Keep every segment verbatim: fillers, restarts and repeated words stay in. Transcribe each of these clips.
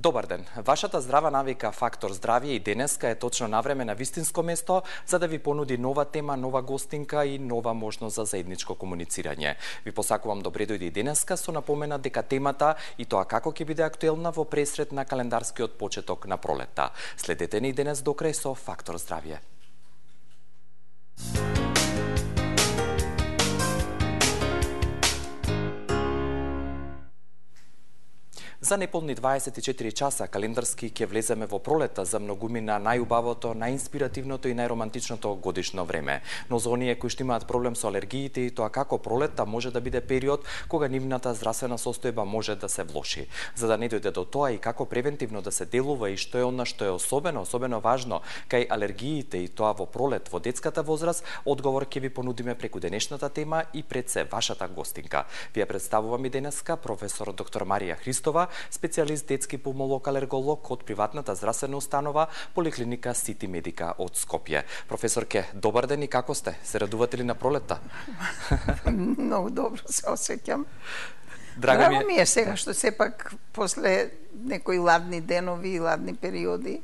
Добар ден. Вашата здрава навика Фактор здравје и денеска е точно навреме на вистинско место за да ви понуди нова тема, нова гостинка и нова можност за заедничко комуницирање. Ви посакувам добре дојде и денеска со напомена дека темата и тоа како ќе биде актуелна во пресред на календарскиот почеток на пролетта. Следете ни денес до крај со Фактор здравје. За неполни дваесет и четири часа календарски ќе влеземе во пролета за многумина најубавото, најинспиративното и најромантичното годишно време. Но за оние кои што имаат проблем со алергиите и тоа како пролета може да биде период кога нивната здравствена состојба може да се влоши. За да не дојде до тоа и како превентивно да се делува и што е она што е особено, особено важно кај алергиите и тоа во пролет во детската возраст, одговор ќе ви понудиме преку денешната тема и пред се вашата гостинка. Ви ја представувам и денеска професор доктор Марија Христова, специјалист детски пулмолог-алерголог од приватната здравствена установа Поликлиника Сити Медика од Скопје. Професорке, добар ден и како сте? Се радувате ли на пролетта? Многу добро се осеќам. Драго ми е, ми е сега што сепак после некои ладни денови и ладни периоди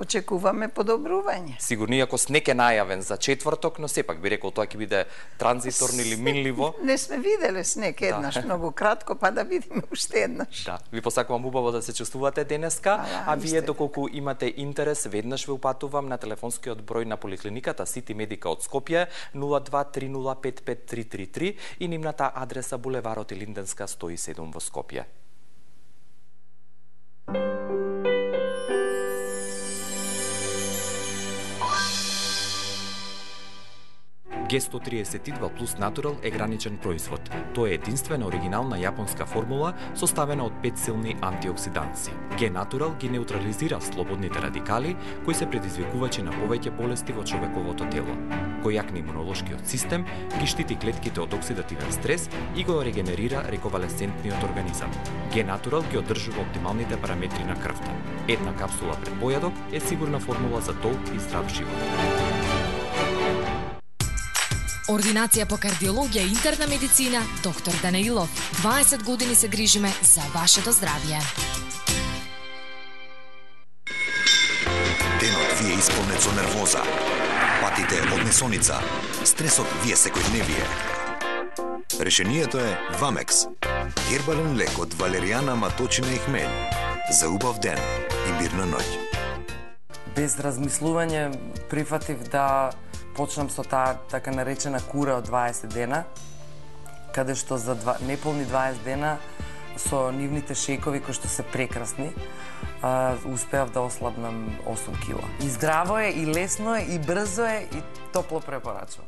очекуваме подобрување. Сигурно иако снег е најавен за четврток, но сепак би рекол тоа ќе биде транзиторно или минливо. Не сме виделе снег еднаш, да. Многу кратко, па да видиме уште еднаш. Да, ви посакувам убаво да се чувствувате денеска, а, а вие доколку имате интерес, веднаш ве упатувам на телефонскиот број на Поликлиниката Сити Медика од Скопје нула два три нула пет пет три три три и нивната адреса булеварот Илинденска сто и седум во Скопје. Г сто триесет и два плюс Натурал е граничен производ. Тоа е единствена оригинална јапонска формула составена од пет силни антиоксиданси. Г Натурал ги неутрализира слободните радикали кои се предизвикувачи на повеќе болести во човековото тело. Кој јакне имунолошкиот систем, ги штити клетките од оксидативен стрес и го регенерира рековалесцентниот организам. Г Натурал ги одржува оптималните параметри на крвта. Една капсула пред појадок е сигурна формула за долг и здрав живот. Ординација по кардиологија и интерна медицина, доктор Данаилов. дваесет години се грижиме за вашето здравје. Денот ви е исполнет со нервоза, патите од несоница, стресот ви е секојдневие. Решението е Вамекс. Гербален лек од валеријана, маточина и хмелј. За убав ден и мирна ноќ. Без размислување прифатив да почнам со таа така наречена кура од дваесет дена, каде што за два, неполни дваесет дена со нивните шекови кои што се прекрасни, а, успеав да ослабнам осум кила. И здраво е, и лесно е, и брзо е, и топло препорачувам.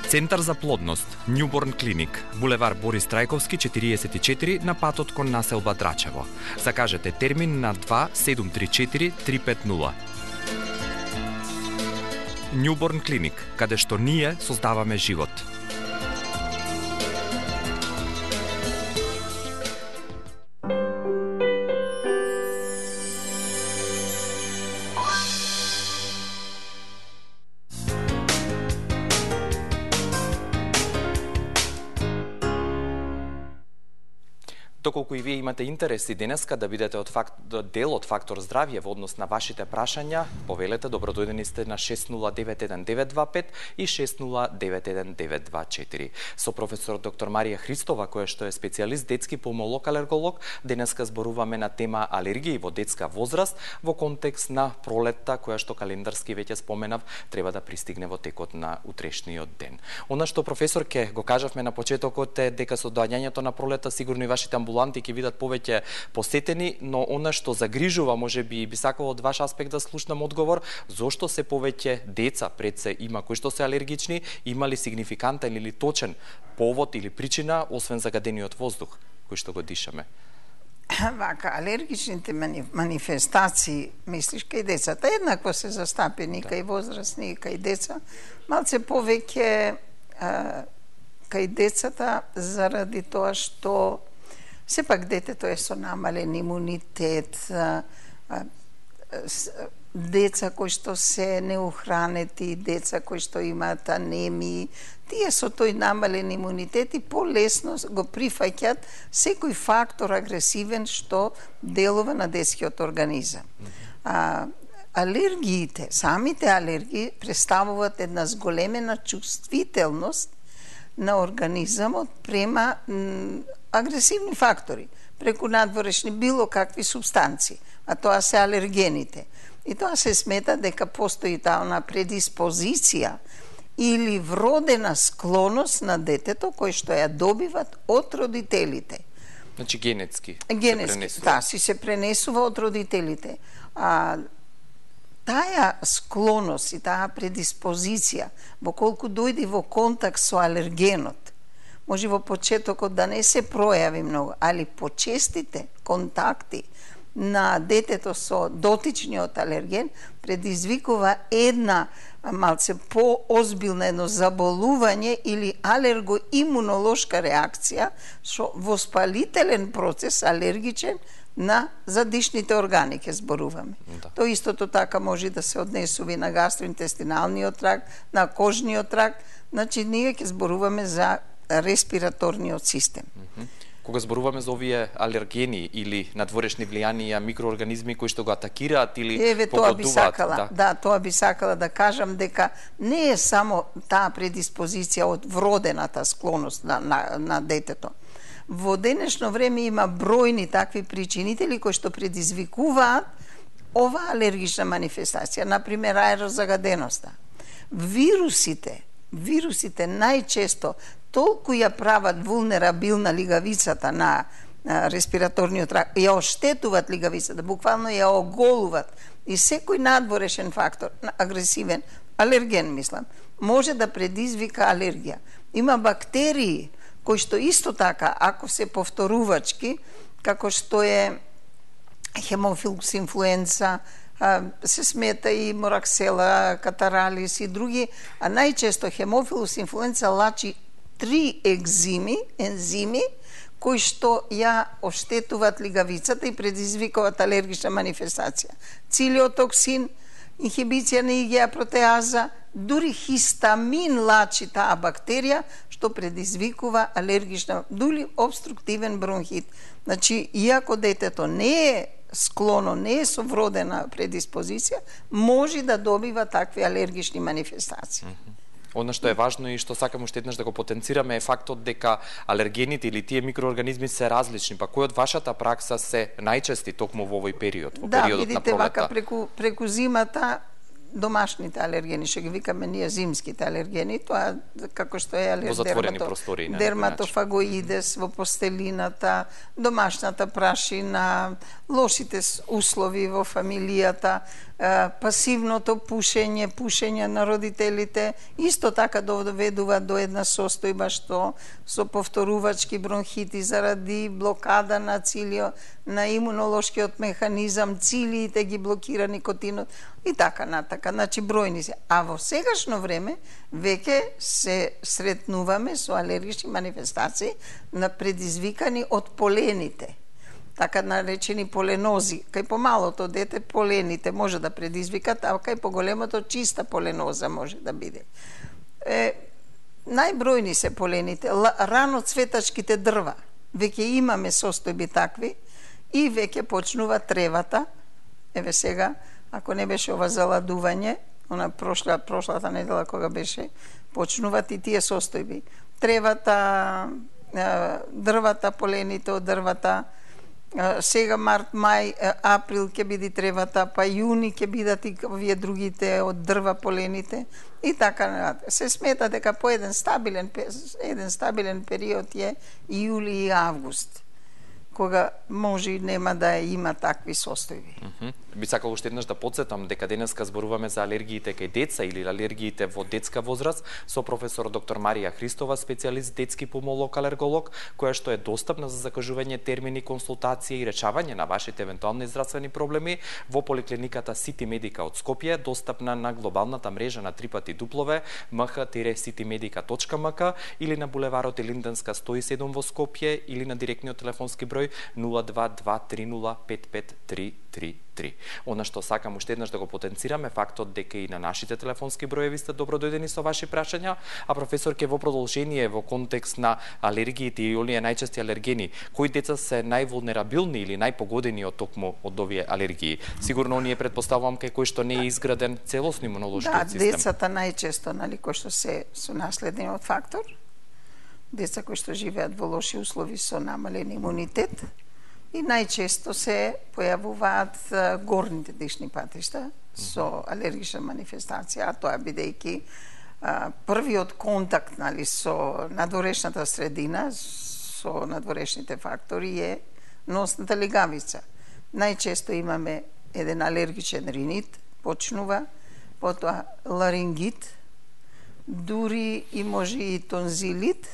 Центар за плодност, Нјуборн клиник, булевар Борис Трајковски четириесет и четири на патот кон населба Драчево. Закажете термин на два седум три четири три пет нула. Нјуборн клиник, каде што ние создаваме живот. Доколку и вие имате интерес и денеска да бидете од факт, дел од Фактор здравје во однос на вашите прашања, повелете, добродојдени сте на шест нула девет еден девет два пет и шест нула девет еден девет два четири. Со професор доктор Марија Христова, која што е специјалист детски пулмолог-алерголог, денеска зборуваме на тема алергии во детска возраст во контекст на пролетта, која што календарски веќе споменав, треба да пристигне во текот на утрешниот ден. Она што професорке го кажавме на почетокот е дека со доаѓањето на пролетта сигурно и вашите амбуланти ќе видат повеќе посетени, но она што загрижува, може би би сакало од ваш аспект да слушнам одговор, зошто се повеќе деца пред се има кои што се алергични, има ли сигнификантен или точен повод или причина, освен загадениот воздух кој што го дишаме? Вака, алергичните манифестации, мислиш, кај децата, еднакво се застапени, да. Кај возрастни, кај деца, малце повеќе кај децата заради тоа што сепак детето е со намален имунитет, деца кои што се неухранети, деца кои што имаат анемии, тие со тој намален имунитет и полесно го прифаќаат секој фактор агресивен што делува на детскиот организам. А, алергиите, самите алергии представуваат една зголемена чувствителност на организамот према м, агресивни фактори, преку надворешни било какви субстанции, а тоа се алергените. И тоа се смета дека постои таа предиспозиција или вродена склоност на детето кој што ја добиват од родителите. Значи генетски. Генетски, се да, си се пренесува од родителите. А таа склоност и таа предиспозиција, во колку дојде во контакт со алергенот, може во почетокот да не се пројави многу, али почестите контакти на детето со дотичниот алерген предизвикува една малце поозбилна едно заболување или алергоимунолошка реакција со воспалителен процес алергичен на задишните органи ќе зборуваме. Да. Тоа истото така може да се однесува и на гастроинтестиналниот тракт, на кожниот тракт, значи ние ќе зборуваме за респираторниот систем. Mm -hmm. Кога зборуваме за овие алергени или надворешни влијанија, микроорганизми кои што го атакираат или Еве, погодуваат, тоа би сакала, да. да, тоа би сакала да кажам дека не е само таа предиспозиција од вродената склоност на, на, на детето. Во денешно време има бројни такви причинители кои што предизвикуваат ова алергична манифестација, например аерозагаденоста. Вирусите, вирусите најчесто толку ја прават вулнерабилна лигавицата на, на респираторниот тракт, ја оштетуваат лигавицата, буквално ја оголуват и секој надворешен фактор, агресивен, алерген мислам, може да предизвика алергија. Има бактерии кои што исто така, ако се повторувачки, како што е хемофилус инфлуенца, се смета и мораксела, катаралис и други, а најчесто хемофилус инфлуенца лачи три екзими, ензими, кои што ја оштетуваат лигавицата и предизвикуваат алергична манифестација. Цилиотоксин, инхибиција на и ге а протеаза, дури хистамин лачи таа бактерија, што предизвикува алергична, дури обструктивен бронхит. Значи, иако детето не е склоно, не е со вродена предиспозиција, може да добива такви алергични манифестации. Mm-hmm. Она што е важно и што сакам уште еднаш да го потенцираме е фактот дека алергените или тие микроорганизми се различни, па кои од вашата пракса се најчести токму во овој период, во да, периодот видите, на пролета? Да, видите, вака преку, преку зимата домашните алергени, што ги викаме ние зимските алергени, тоа како што е алер... во затворени дермато... простори, дерматофагоидес во постелината, домашната прашина, лошите услови во фамилијата, пасивното пушење, пушење на родителите, исто така доведува до една состојба што со повторувачки бронхити заради блокада на цилио, на имунолошкиот механизам, цилиите ги блокира никотинот и така натака. Значи бројни се. А во сегашно време веќе се сретнуваме со алергични манифестации на предизвикани од полените. Така наречени поленози. Кај помалото дете полените може да предизвикат, а кај поголемото чиста поленоза може да биде. Е, најбројни се полените, рано цветачките дрва. Веќе имаме состојби такви и веќе почнува тревата. Еве сега, ако не беше ова заладување, она прошла, прошлата недела кога беше, почнуваат и тие состојби. Тревата, дрвата, полените од дрвата, сега март, мај, април ќе биде тревата, па јуни ќе бидат и овие другите од дрва полените и така. Се смета дека по еден стабилен еден стабилен период е јули и август, кога може и нема да има такви состојби. Mm -hmm. Би сакал уште еднаш да подсетам дека денеска зборуваме за алергиите кај деца или алергиите во детска возраст со професор доктор Марија Христова, специјалист детски пулмолог алерголог, која што е достапна за закажување термини, консултација и речавање на вашите евентуални здравствени проблеми во поликлиниката Сити Медика од Скопје, достапна на глобалната мрежа на три пати дуплове ем х сити медика точка ем к или на булеварот Елинденска сто и седум во Скопје или на директниот телефонски број број нула два два три нула пет пет три три три. Она што сакам уште еднаш да го потенцираме фактот дека и на нашите телефонски броеви сте добродојдени со ваши прашања, а професорке во продолжение во контекст на алергиите и оние најчести алергени, кои деца се највулнерабилни или најпогодени од токму од овие алергии? Сигурно оние претпоставувам кај кој што не е изграден целосни имунолошкиот систем. Да, децата најчесто, нали, кои што се со наследниот фактор, деца кои што живеат во лоши услови со намален имунитет, и најчесто се појавуваат горните дишни патишта со алергична манифестација, а тоа бидејќи првиот контакт, нали, со надворешната средина, со надворешните фактори е носната легавица. Најчесто имаме еден алергичен ринит, почнува, потоа ларингит, дури и може и тонзилит.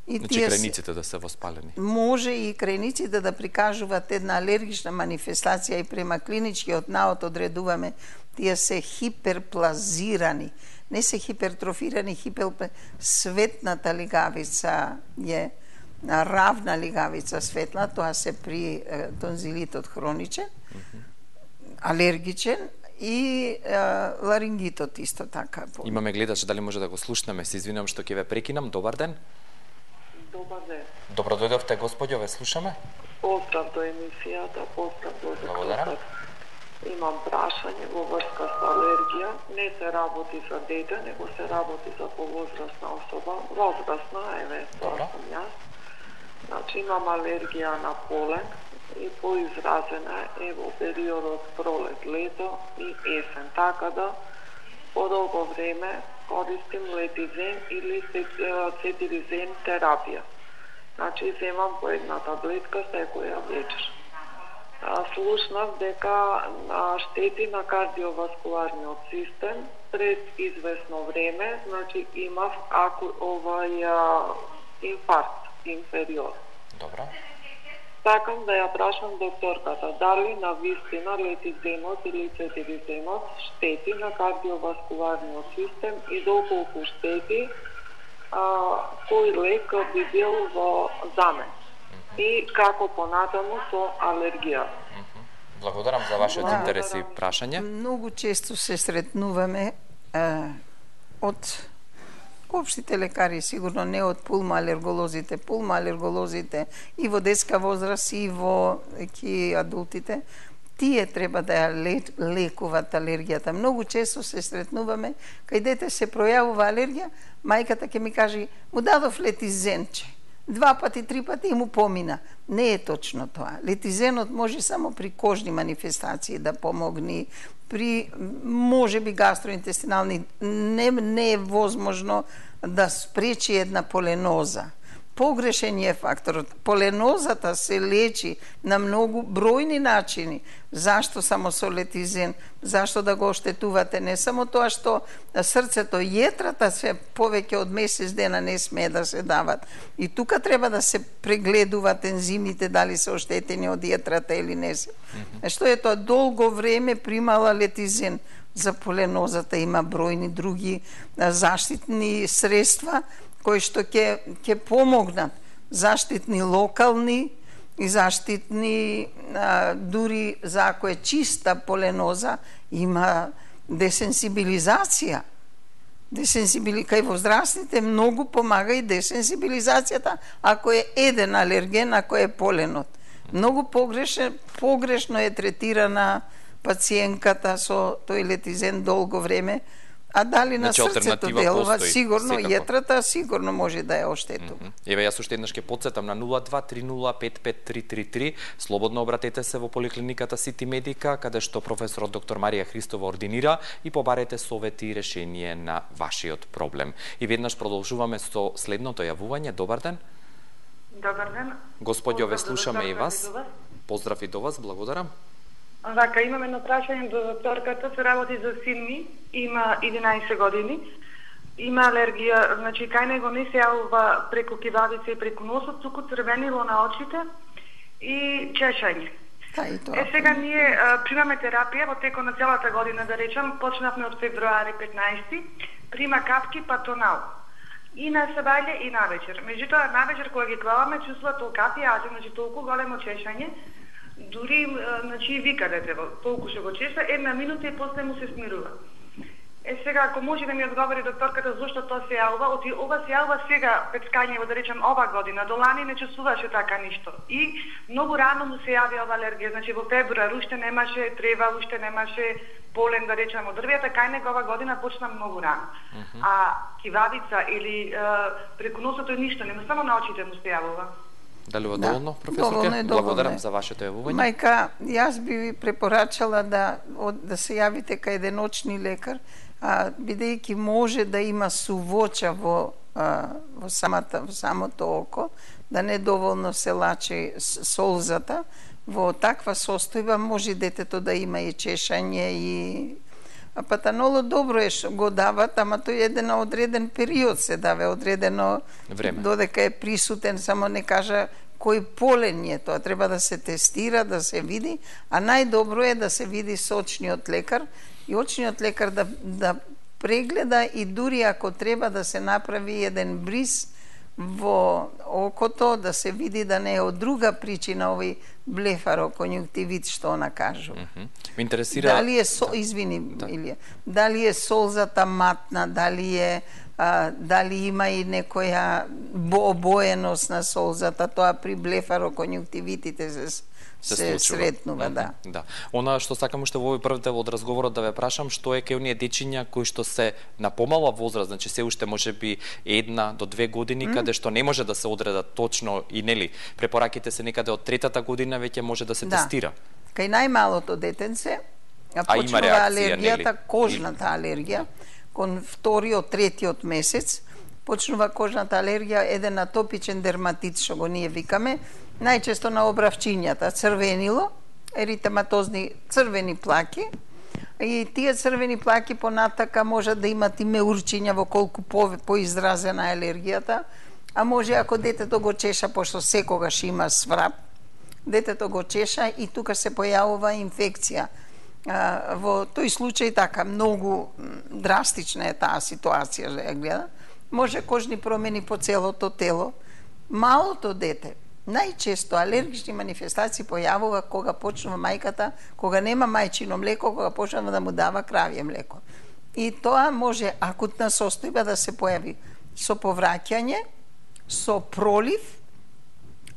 И значи крајниците да се воспалени. Може и крајниците да прикажуваат една алергична манифестација и према клиничкиот наод одредуваме тие се хиперплазирани. Не се хипертрофирани, хипер... светната лигавица е равна лигавица светла, тоа се при е, тонзилитот хроничен, mm -hmm. алергичен и е, ларингитот исто така. Имаме гледач, дали може да го слушнеме? Се извинувам што ќе ве прекинам. Добар ден. Добар ден. Добро дојдовте, господјо, ве слушаме. Поздрав до емисијата, поздрав до Благодарам. Имам прашање во врска со алергија. Не се работи за дете, него се работи за повозрасна особа. Возрастна, еве, тоа сум јас. Значи, имам алергија на полен и поизразена е во периодот пролет-лето и есен. Така да, подолго време користим летизен или цетиризен терапија. Значи, земам по една таблетка секоја вечер. Слушнав дека штети на кардиоваскуларниот систем пред известно време, значи имав аку овај инфаркт инфериор. Добро. Сакам да ја прашам докторката, дали на вистина летизенот или цетиризенот штети на кардиоваскуларниот систем и доколку штети, а, кој лек би бил во замен и како понатаму со алергија. Благодарам за вашиот да, интерес и прашање. Многу често се сретнуваме е, од општите лекари, сигурно не од пулмоалерголозите, пулмоалерголозите и во детска возраст и во ки адултите, тие треба да ја лекуваат алергијата. Многу често се сретнуваме, кај дете се пројавува алергија, мајката ќе ми каже, му дадов летизенче. Два пати, три пати и му помина. Не е точно тоа. Летизенот може само при кожни манифестации да помогне, при можеби гастроинтестинални, не, не е возможно да спречи една поленоза. Погрешен е факторот. Поленозата се лечи на многу бројни начини. Зашто само со летизен? Зашто да го оштетувате? Не само тоа што срцето, јетрата се повеќе од месец дена не смее да се дават. И тука треба да се прегледуваат ензимите, дали се оштетени од јетрата или не се. Mm-hmm. Што е тоа? Долго време примала летизен. За поленозата има бројни други заштитни средства кои што ќе ќе помогнат, заштитни локални и заштитни а, дури за ако е чиста поленоза има десенсибилизација. Десенсибили кај возрастните многу помага и десенсибилизацијата ако е еден алерген, ако е поленот. Многу погрешно погрешно е третирана пациентката со тој летизен долго време. А дали на значи, срцето делува, постои, сигурно, секако. јетрата сигурно може да ја оштетува. Mm -hmm. Еве, јас уште еднаш ќе потсетам на нула два три нула пет пет три три три. Слободно обратете се во поликлиниката Сити Медика, каде што професорот доктор Марија Христова ординира и побарете совети и решение на вашиот проблем. И веднаш продолжуваме со следното јавување. Добар ден. Добар ден. Господјо, ве слушаме и вас. Поздрав и до вас, благодарам. Вака, имам едно прашање до докторката, се работи за син ми, има единаесет години, има алергија, значи кај него не се јавува преку кивавица и преку носот, туку црвенило на очите и чешање. Е, сега ние а, примаме терапија во текот на целата година, да речем, почнавме од февруари петнаесети, прима капки патонал. И на сабајле и на вечер. Меѓутоа, на вечер кога ги клаваме, чувствува толку јазен, значи толку големо чешање, дури, значи, вика детево, толку што го чеша, една минута и после му се смирува. Е, сега, ако може да ми одговори докторката зошто тоа се јавува, оти ова се јавува сега, пецкањево, да речем, ова година, до лани не чувствуваше така ништо. И многу рано му се јави ова алергија, значи во февруар уште немаше трева, уште немаше полен, да речем, од дрвјата, кај него ова година почна многу рано. Uh -huh. А кивавица или е, преку носото ништо, нема, само на очите му се јавува. Дали ова доволно, да, професорке? Доволно е, доволно Благодарам е. за вашето јавување. Мајка, јас би ви препорачала да, да се јавите кај еден очни лекар, а, бидејќи може да има сувоча во, а, во, самата, во самото око, да не доволно се лачи солзата, во таква состојба може детето да има и чешање и а патанолот добро е што го дават, ама тој еден одреден период се дава, одредено време. Додека е присутен, само не кажа кој полен е тоа, треба да се тестира, да се види, а најдобро е да се види со очниот лекар и очниот лекар да, да прегледа и дури ако треба да се направи еден бриз во окото, да се види да не е од друга причина овој блефароконјунктивит што она кажува. Mm -hmm. Ме интересира... Дали е, со... извини, да. Илија, дали е солзата матна, дали е а, дали има и некоја обоеност на солзата, тоа при блефароконјунктивитите се се, се сретнува, да. Да. Она што сакам уште во овој прв дел од разговорот да ве прашам, што е кај оние дечиња кои што се на помала возраст, значи се уште можеби една до две години, mm. каде што не може да се одредат точно и нели препораките се некаде од третата година веќе може да се да. тестира. Кај најмалото детенце а почнува реакција, алергијата, нели? кожната алергија, кон вториот, третиот месец почнува кожната алергија, еден атопичен дерматит што го ние викаме, најчесто на обравчињата, црвенило, еритематозни црвени плаки, и тие црвени плаки понатака можат да имат и меурчиња во колку по, поизразена алергијата, а може ако детето го чеша, пошто секогаш има сврап, детето го чеша и тука се појавува инфекција. А, во тој случај така многу драстична е таа ситуација за ја гледа. Може кожни промени по целото тело. Малото дете најчесто алергични манифестации појавува кога почнува мајката, кога нема мајчино млеко, кога почнува да му дава кравје млеко. И тоа може акутна состојба да се појави со повраќање, со пролив,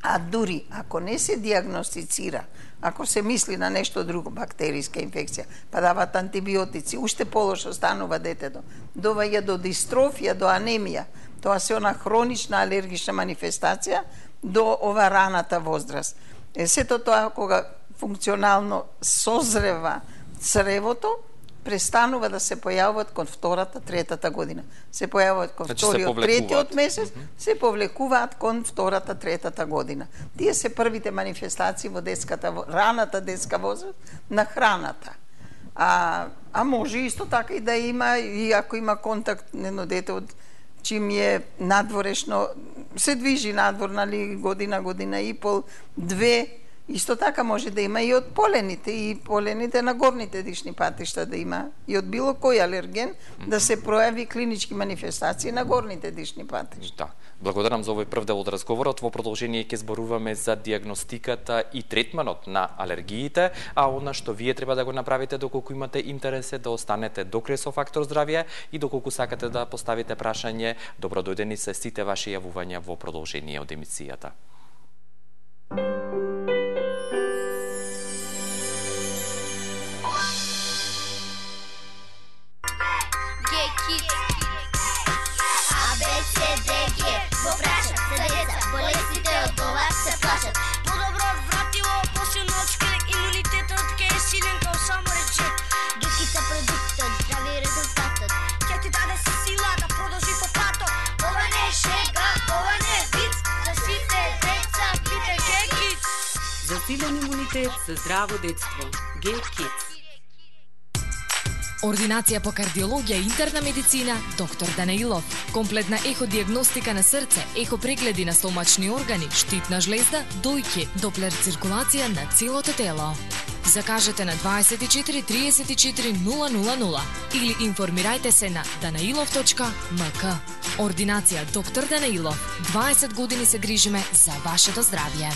а дури ако не се диагностицира, ако се мисли на нешто друго, бактериска инфекција, па дават антибиотици, уште полошо станува детето, доваѓа до дистрофија, до анемија, тоа се она хронична алергична манифестација до ова раната возраст. Е, сето тоа кога функционално созрева цревото, престанува да се појавуваат кон втората, третата година. Се појавуваат кон значи вториот, третиот месец, mm -hmm. се повлекуваат кон втората, третата година. Тие се првите манифестации во детската, раната детска возраст на храната. А, а може исто така и да има, и ако има контакт едно дете од чим е надворешно, се движи надвор, нали, година, година и пол, две, исто така може да има и од полените, и полените на горните дишни патишта да има, и од било кој алерген, да се пројави клинички манифестации на горните дишни патишта. Да. Благодарам за овој прв дел од разговорот. Во продолжение ќе зборуваме за диагностиката и третманот на алергиите, а она што вие треба да го направите доколку имате интерес е да останете до крај со Фактор здравје и доколку сакате да поставите прашање, добродојдени се сите ваши јавувања во продолжение од емисијата. Засилен имунитет за здраво детство. Get-Kids. Ординација по кардиологија и интерна медицина, доктор Данаилов. Комплетна еходиагностика на срце, ехопрегледи на стомачни органи, штитна жлезда, дојки, доплер циркулација на целото тело. Закажете на дваесет и четири триесет и четири нула нула нула или информирајте се на данаилов точка ем ка. Ординација доктор Данаилов. дваесет години се грижиме за вашето здравје.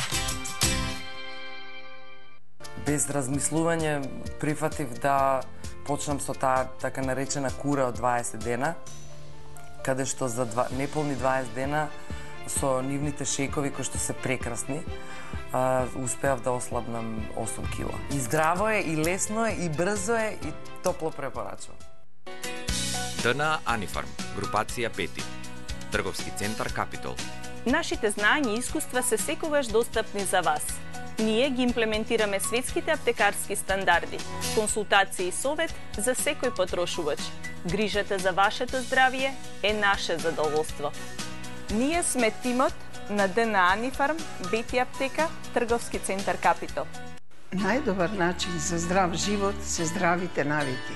Без размислување прифатив да почнам со таа така наречена кура од дваесет дена, каде што за два, неполни дваесет дена со нивните шекови кои што се прекрасни, а, успеав да ослабнам осум кила. И здраво е, и лесно е, и брзо е, и топло препорачувам. ДНА Анифарм, групација пети, трговски центар Капитол. Нашите знања и искуства се секогаш достапни за вас. Ние ги имплементираме светските аптекарски стандарди, консултации и совет за секој потрошувач. Грижата за вашето здравје е наше задоволство. Ние сме тимот на ДНА Анифарм, Бети аптека, трговски центар Капитол. Најдобар начин за здрав живот се здравите навики.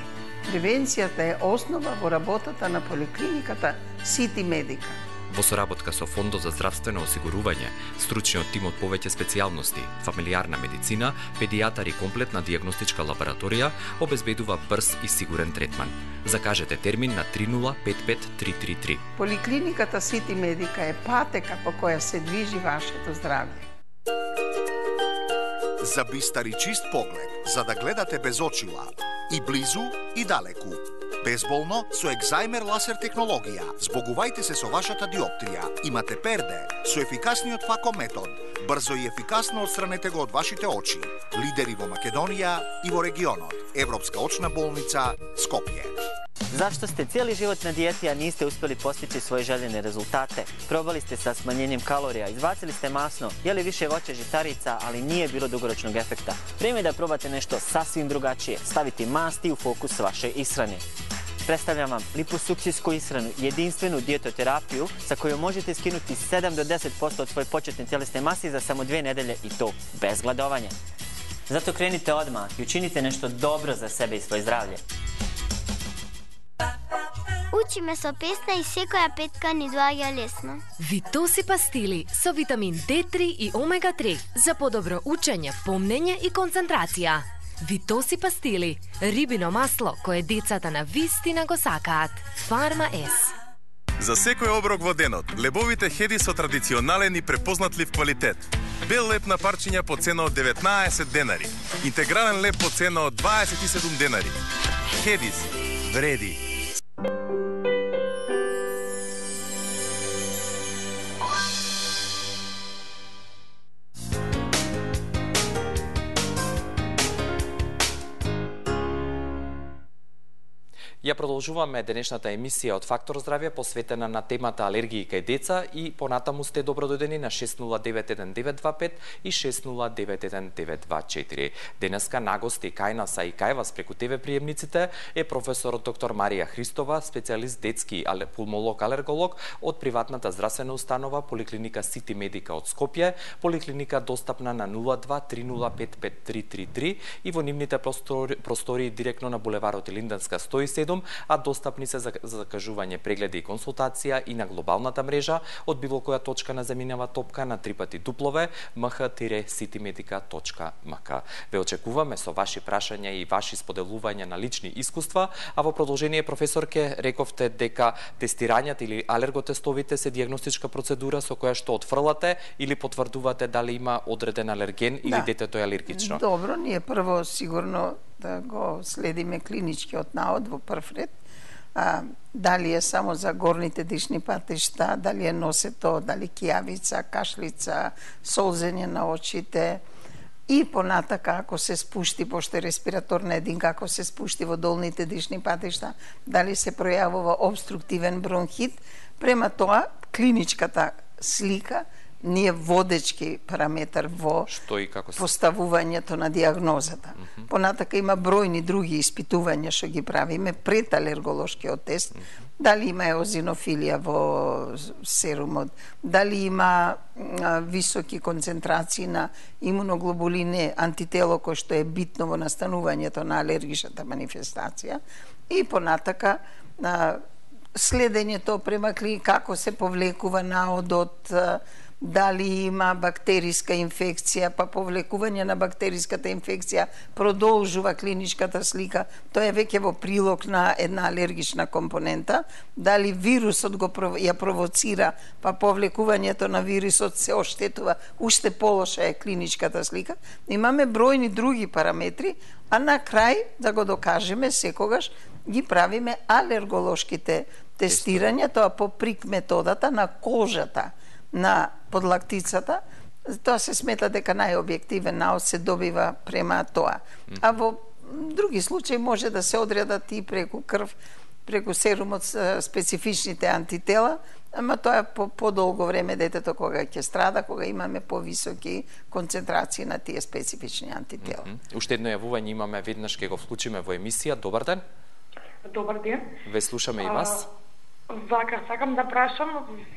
Превенцијата е основа во работата на поликлиниката Сити Медика. Во соработка со Фондот за здравствено осигурување, стручниот тим од повеќе специјалности, фамилиарна медицина, педијатар и комплетна дијагностичка лабораторија обезбедува брз и сигурен третман. Закажете термин на три нула пет пет три три три. Поликлиниката Сити Медика е патека по која се движи вашето здравје. За бистар и чист поглед, за да гледате без очила, и близу, и далеку. Безболно со екзајмер ласер технологија. Збогувајте се со вашата диоптрија. Имате перде со ефикасниот фако метод. Брзо и ефикасно отстранете го од вашите очи. Лидери во Македонија и во регионот. Европска очна болница Скопје. Зашто сте цели живот на диети, а нисте успели постичи своји желени резултате? Пробали сте sa smanjenjem kalorija, izbacili ste masno, jeli više voća žitarica, ali nije bilo dugoročnog efekta. Vreme je da probate nešto sasvim drugačije, staviti masti u fokus vaše ishrane. Predstavljam vam liposukcijsku ishranu, jedinstvenu dijetoterapiju sa kojom možete skinuti sedam do deset posto od svoje početne tjelesne mase za samo dve nedelje i to bez gladovanja. Zato krenite odmah i učinite nešto dobro za sebe i svoje zdravlje. Учиме со песна и секоја петка ни доаѓа лесно. Витоси пастили со витамин Д три и омега три за подобро учење, помнење и концентрација. Витоси пастили, рибино масло кое децата на вистина го сакаат. Фарма С. За секој оброк во денот, лебовите хеди со традиционален и препознатлив квалитет. Бел леб на парчиња по цена од деветнаесет денари. Интегрален леб по цена од дваесет и седум денари. Хедис вреди. Ја продолжуваме денешната емисија од Фактор здравје посветена на темата алергии кај деца и понатаму сте добродојдени на шест нула девет еден девет два пет и шест нула девет еден девет два четири. Денеска на гости кај нас и кај вас преку ТВ приемниците е професорот доктор Марија Христова, специјалист детски пулмолог-алерголог од приватната здравствена установа Поликлиника Сити Медика од Скопје, поликлиника достапна на нула два три нула пет пет три три три и во нивните простори, простории директно на булеварот Илинденска сто и седум, а достапни се за, за закажување, прегледи и консултација и на глобалната мрежа од било која точка на земјинава топка на три пати дуплове ем х сити медика точка ем ка. Ве очекуваме со ваши прашања и ваши споделувања на лични искуства, а во продолжение професорке рековте дека тестирањата или алерготестовите се дијагностичка процедура со која што отфрлате или потврдувате дали има одреден алерген или да. детето е алергично. Добро, ние прво сигурно да го следиме клиничкиот наод во прв ред. А, дали е само за горните дишни патишта, дали е носето, дали кијавица, кашлица, солзење на очите и понатака ако се спушти, пошто е респираторна единка, ако се спушти во долните дишни патишта, дали се пројавува обструктивен бронхит. Према тоа, клиничката слика не е водечки параметар во што и како се поставувањето на дијагнозата. Mm -hmm. Понатака има бројни други испитувања што ги правиме пред алерголошкиот тест, mm -hmm. дали има еозинофилија во серумот, дали има а, високи концентрации на имуноглобулине, антитело кој што е битно во настанувањето на алергичната манифестација и понатака а, следењето према клиника, како се повлекува наодот, дали има бактериска инфекција, па повлекување на бактериската инфекција продолжува клиничката слика, тоа е веќе во прилог на една алергична компонента, дали вирусот го ја провоцира, па повлекувањето на вирусот се оштетува, уште полоша е клиничката слика. Имаме бројни други параметри, а на крај, да го докажеме, секогаш ги правиме алерголошките тестирања, тоа по прик методата на кожата на подлактицата, тоа се смета дека најобјективен наод се добива према тоа. А во други случаи може да се одредат и преку крв, преку серумот специфичните антитела, ама тоа е по подолго време детето кога ќе страда, кога имаме повисоки концентрации на тие специфични антитела. Mm -hmm. Уште едно јавување имаме, веднаш ќе го вклучиме во емисија. Добар ден. Добар ден. Ве слушаме и вас. Вака, сакам да прашам,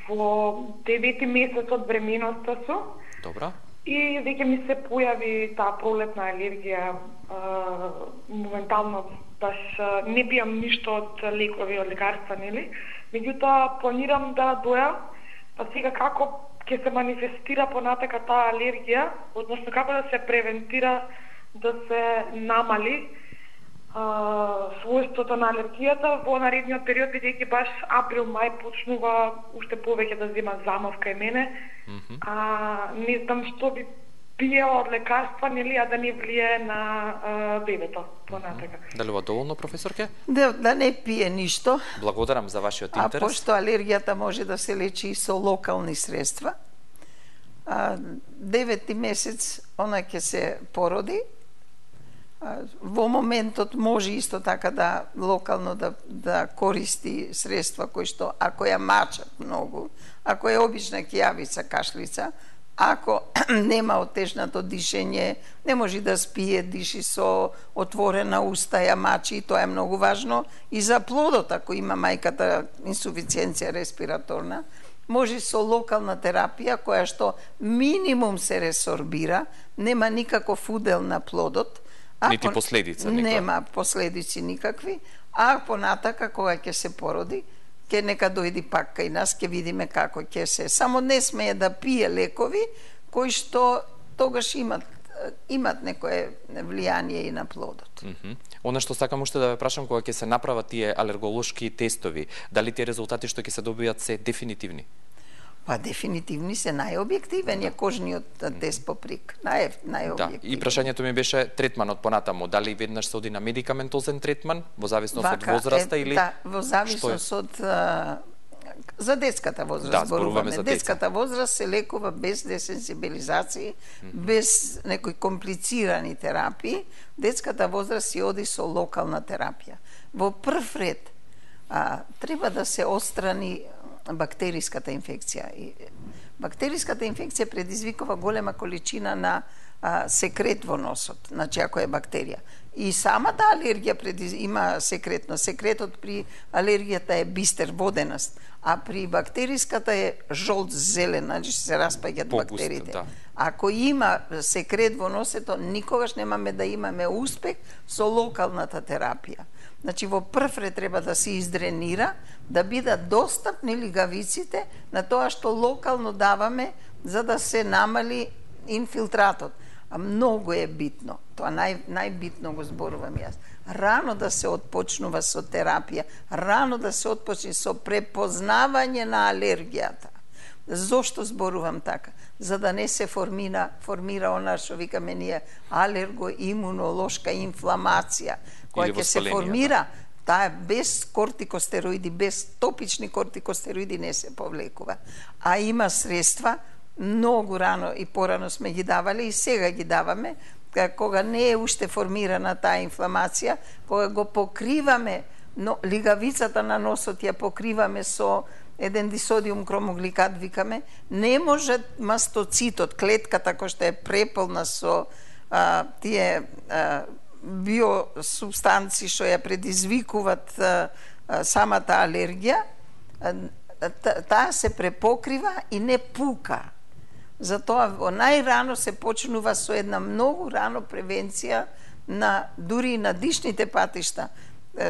во девети месец од бременоста су. Добра. И веќе ми се појави таа пролетна алергија. Моментално баш не пијам ништо од лекови, од лекарства, нели? Меѓутоа планирам да доја, па сега како ќе се манифестира понатака таа алергија, односно како да се превентира, да се намали својството на алергијата во наредниот период, бидејќи баш април-мај почнува уште повеќе да зема замав кај мене, mm -hmm. а не знам што би пиела од лекарства, нели, а да не влие на а, бебето понатака. Mm -hmm. Дали ова доволно, професорке? Да, да не пие ништо. Благодарам за вашиот интерес. А пошто алергијата може да се лечи и со локални средства, а, девети месец она ќе се породи. Во моментот може исто така да локално да, да користи средства кои што ако ја мачат многу, ако е обична кијавица, кашлица, ако нема отежнато дишење, не може да спие, диши со отворена уста, ја мачи, и тоа е многу важно и за плодот, ако има мајката инсуфициенција респираторна, може со локална терапија која што минимум се ресорбира, нема никаков удел на плодот, А нити последица никаква. Нема последици никакви, а понатака кога ќе се породи, ќе нека дојди пак кај нас, ќе видиме како ќе се. Само не смее да пие лекови кои што тогаш имат имат некое влијание и на плодот. Mm -hmm. Она што сакам уште да ве прашам, кога ќе се направат тие алерголошки тестови, дали тие резултати што ќе се добијат се дефинитивни? Па дефинитивни се, најобјективен е кожниот тест по прик. Нај, најобјективен. Да, и прашањето ми беше третманот понатаму, дали веднаш се оди на медикаментозен третман, во зависност од возраста е, или... Да, во зависност од... А, за детската возраст да, зборуваме. За детската возраст се лекува без десенсибилизации, mm -hmm. без некои комплицирани терапии. Детската возраст си оди со локална терапија. Во прв ред а, треба да се отстрани бактериската инфекција. И бактериската инфекција предизвикува голема количина на а, секрет во носот, значи ако е бактерија. И самата алергија предиз... има секретно. Секретот при алергијата е бистер, воденост, а при бактериската е жолт зелен, значи се распаѓаат бактериите. Да. Ако има секрет во носето, никогаш немаме да имаме успех со локалната терапија. Значи, во прв ред треба да се издренира, да бидат достапни лигавиците на тоа што локално даваме, за да се намали инфилтратот. А многу е битно, тоа нај, најбитно го зборувам јас. Рано да се отпочнува со терапија, рано да се отпочне со препознавање на алергијата. Зошто зборувам така? За да не се формира, формира она што викаме ние алерго-имунолошка инфламација, која ќе се формира, таа е без кортикостероиди, без топични кортикостероиди не се повлекува. А има средства, многу рано и порано сме ги давали и сега ги даваме, кога не е уште формирана таа инфламација, кога го покриваме, но лигавицата на носот ја покриваме со еден дисодиум кромогликат, викаме, не може мастоцитот, клетката која што е преполна со а, тие а, биосубстанци што ја предизвикуваат а, а, самата алергија, таа се препокрива и не пука. Затоа најрано се почнува со една многу рано превенција на дури и на дишните патишта.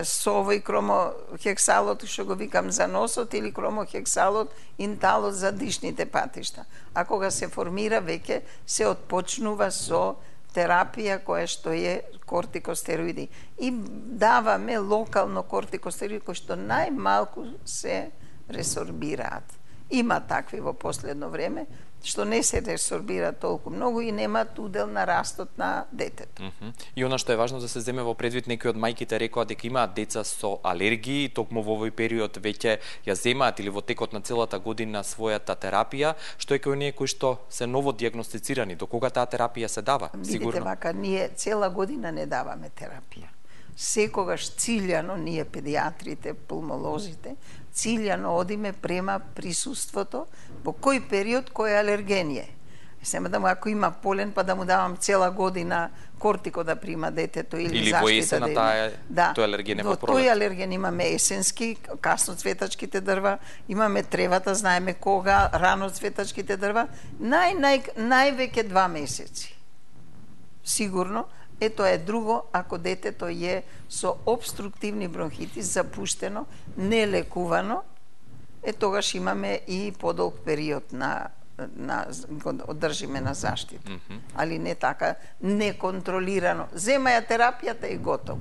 со овој кромохексалот што го викам за носот или кромохексалот инталот за дишните патишта. А кога се формира веќе се отпочнува со терапија која што е кортикостероиди. И даваме локално кортикостероиди кои што најмалку се ресорбираат. Има такви во последно време, што не се ресорбира толку многу и немаат удел на растот на детето. Mm -hmm. И она што е важно да се земе во предвид, некои од мајките рекоа дека имаат деца со алергии, токму во овој период веќе ја земаат или во текот на целата година својата терапија, што е кај оние кои што се ново дијагностицирани, до кога таа терапија се дава? Видите, Сигурно. вака, ние цела година не даваме терапија. Секогаш циљано, ние педиатрите, пулмолозите, циљано одиме према присуството во кој период кој алерген е. Сема да му, ако има полен, па да му давам цела година кортико да прима детето или, или заштита. Или во есена да таа, да. тој алерген е во Во пролет. тој алерген имаме есенски, касноцветачките дрва, имаме тревата, знаеме кога, раноцветачките дрва, нај, нај, највеќе два месеци. Сигурно. Е, тоа е друго, ако детето е со обструктивни бронхити, запуштено, нелекувано, е тогаш имаме и подолг период на на го одржиме на заштита. Mm -hmm. Али не така неконтролирано. Зема ја терапијата и готово.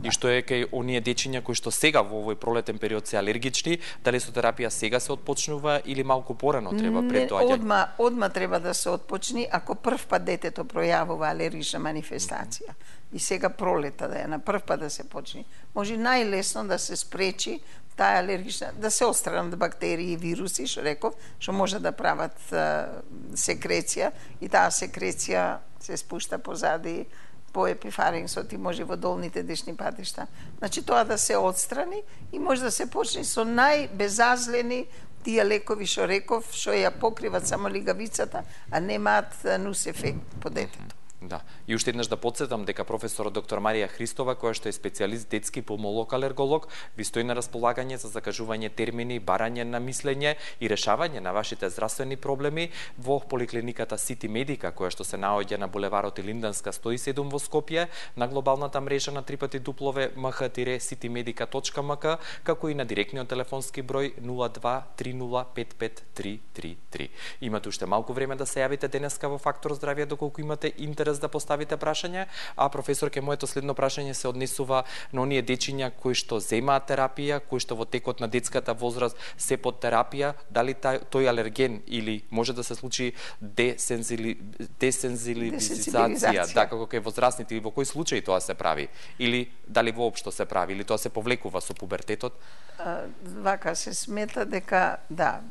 И што е кај оние дечиња кои што сега во овој пролетен период се алергични, дали со терапија сега се отпочнува или малку порано треба пред доаѓање? Одма, одма треба да се отпочни ако прв пат детето пројавува алергична манифестација. Mm -hmm. И сега пролета да е на прв пат да се почне. Може најлесно да се спречи таа алергична, да се отстранат бактерии и вируси, што реков, што може да прават uh, секреција и таа секреција се спушта позади по епифарингсот и може во долните дишни патишта. Значи тоа да се отстрани и може да се почне со најбезазлени тие лекови што реков, што ја покриват само лигавицата, а немаат нус ефект по детето. Да. И уште еднаш да подсетам дека професорот доктор Марија Христова, која што е специјалист детски пулмолог алерголог, ви стои на располагање за закажување термини, барање на мислење и решавање на вашите здравствени проблеми во поликлиниката Сити Медика, која што се наоѓа на булеварот Илинданска сто и седум во Скопје, на глобалната мрежа на три пати дуплове ем х сити медика точка ем ка, како и на директниот телефонски број нула два три нула пет пет три три три. Имате уште малку време да се јавите денеска во Фактор здравје доколку имате интерес да поставите прашање, а професорке, моето следно прашање се однесува на оние дечиња кои што земаат терапија, кои што во текот на детската возраст се под терапија, дали тој алерген или може да се случи десензили... десензилизација, да, како кај возрастните, или во кој случај тоа се прави, или дали воопшто се прави, или тоа се повлекува со пубертетот? А, вака се смета дека, да,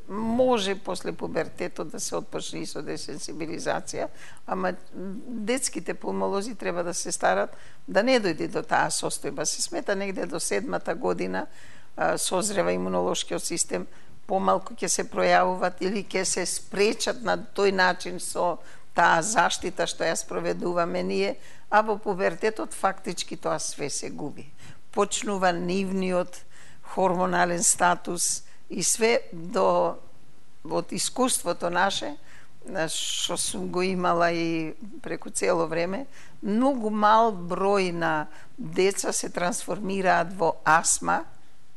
може после пубертетот да се отпочне и со десензибилизација, ама детските пулмолози треба да се старат да не дојде до таа состојба. Се смета негде до седмата година а, созрева имунолошкиот систем, помалку ќе се пројавуваат или ќе се спречат на тој начин со таа заштита што ја спроведуваме ние, а во пубертетот фактички тоа све се губи. Почнува нивниот хормонален статус и све до од искуството наше, што сум го имала и преку цело време, многу мал број на деца се трансформираат во астма,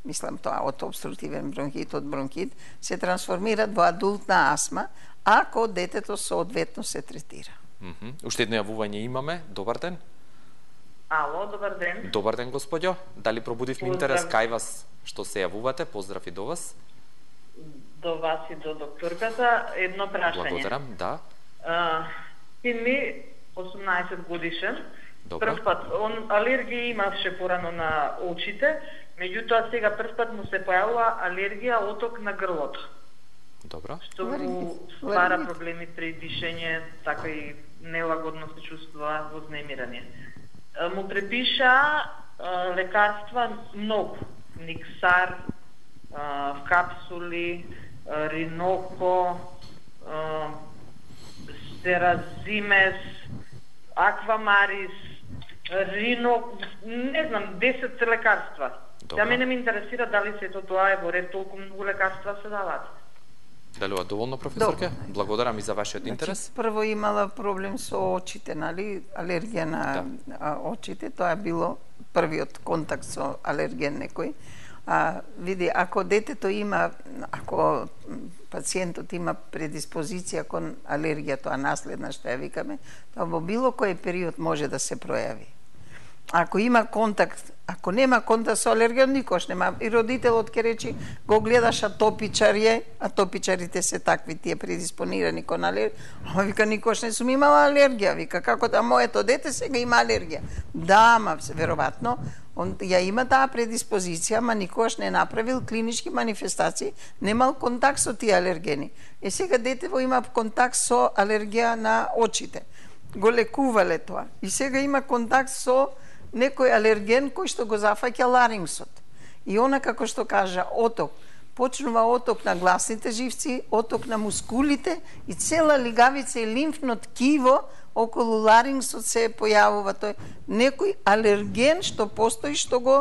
мислам тоа од обструктивен бронхит, од бронхит, се трансформираат во адултна астма, ако детето соодветно се третира. Mm -hmm. Уште едно јавување имаме. Добар ден. Ало, добар ден. Добар ден, господјо. Дали пробудивме интерес кај вас што се јавувате? Поздрав и до вас. До вас и до докторката. Едно прашање. Благодарам, да. Uh, син ми, осумнаесет годишен, Добро. Прв пат, он алергија имаше порано на очите, меѓутоа сега прв пат му се појавува алергија оток на грлото. Добро. Што му ствара проблеми при дишење, така и нелагодно се чувствува вознемирање. Му препиша а, лекарства многу, Никсар, а, в капсули, а, Риноко, а, Стеразимес, Аквамарис, Рино, не знам, десет лекарства. Да мене ме интересира дали сето тоа е во ред, толку многу лекарства се даваат. Делува доволно, професорке? Благодарам и за вашиот интерес. Значи, прво имала проблем со очите, нали, алергија на да. очите, тоа било првиот контакт со алерген некој. А, види, ако детето има, ако пациентот има предиспозиција кон алергија, тоа наследна што ја викаме, тоа во било кој период може да се пројави. Ако има контакт, ако нема контакт со алерген, никош нема. И родителот ќе речи, го гледаш атопичар е, атопичарите се такви, тие предиспонирани кон алергија. Ама вика, никош не сум имала алергија. Вика, како да моето дете сега има алергија? Да, ама веројатно, он ја има таа предиспозиција, ама никош не направил клинички манифестации, немал контакт со тие алергени. Е сега детево има контакт со алергија на очите. Го лекувале тоа. И сега има контакт со некој алерген кој што го зафаќа ларингсот. И она, како што кажа, оток. Почнува оток на гласните живци, оток на мускулите и цела лигавица и лимфно ткиво околу ларингсот се појавува тој некој алерген што постои, што го,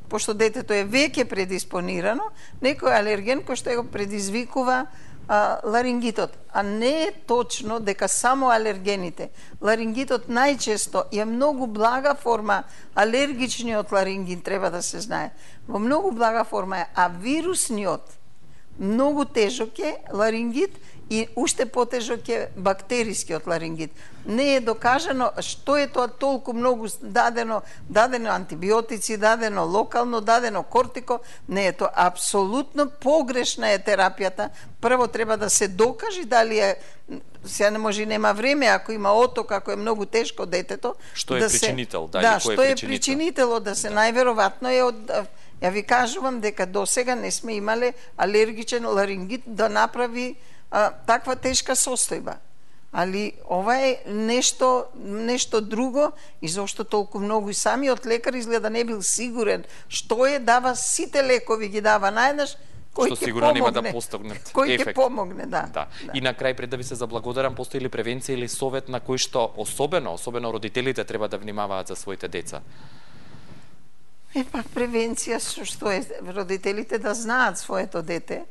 пошто детето е веќе предиспонирано, некој алерген кој што го предизвикува а, ларингитот. А не е точно дека само алергените. Ларингитот најчесто е многу блага форма, алергичниот ларингит треба да се знае. Во многу блага форма е, а вирусниот многу тежок е ларингит и уште потежок е бактерискиот ларингит. Не е докажано што е тоа толку многу дадено, дадено антибиотици, дадено локално, дадено кортико, не е тоа. Апсолутно погрешна е терапијата. Прво треба да се докаже дали е, сега не може, нема време, ако има оток, ако е многу тешко детето. Што е да причинител? Се, дали, да, кој што е е причинител, да се најверојатно е од... Ја ви кажувам дека досега не сме имале алергичен ларингит да направи а, таква тешка состојба. Али ова е нешто, нешто друго и зошто толку многу и самиот лекар изгледа не бил сигурен што е, дава сите лекови ги дава наеднаш, кој што ќе сигурно помогне, нема да постигнат кој ефект. ќе помогне, да. Да. да. И на крај, пред да ви се заблагодарам, постои ли превенција или совет на кој што особено, особено родителите треба да внимаваат за своите деца? Епа, превенција што, што е родителите да знаат своето дете,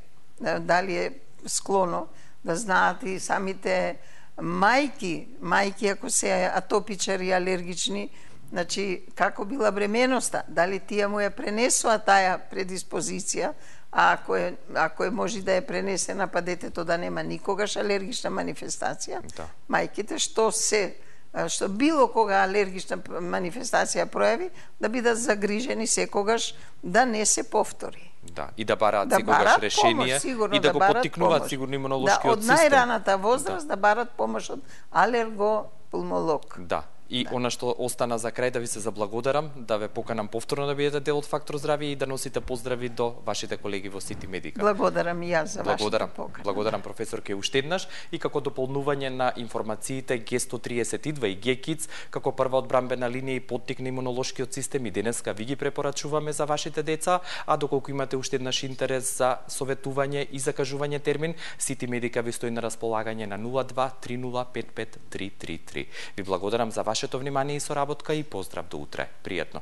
дали е склоно, да знаат и самите мајки, мајки ако се атопичари, алергични, значи како била бременоста, дали тие му ја пренесува таа предиспозиција, а ако е, ако е може да е пренесена, па детето да нема никогаш алергична манифестација, да. Мајките што се што било кога алергична манифестација пројави, да бидат загрижени секогаш да не се повтори. Да, и да бараат да секогаш барат решение помош, и да, да го поттикнуваат сигурно имунолошкиот да, од систем. Од најраната возраст да. да барат помош од алергопулмолог. Да. И да. Она што остана за крај, да ви се заблагодарам, да ве поканам повторно да бидете дел од Фактор здравје и да носите поздрави до вашите колеги во Сити Медика. Благодарам и јас за Благодарам. вашата покана. Благодарам професорке уште еднаш и како дополнување на информациите Г сто триесет и два и Г Kids како прва одбрамбена линија и поттик на имунолошкиот систем и денеска ви ги препорачуваме за вашите деца, а доколку имате уште еднаш интерес за советување и закажување термин, Сити Медика ви стои на располагање на нула два три нула пет пет три три три. Ви благодарам за вашето внимание и соработка и поздрав до утре. Пријатно.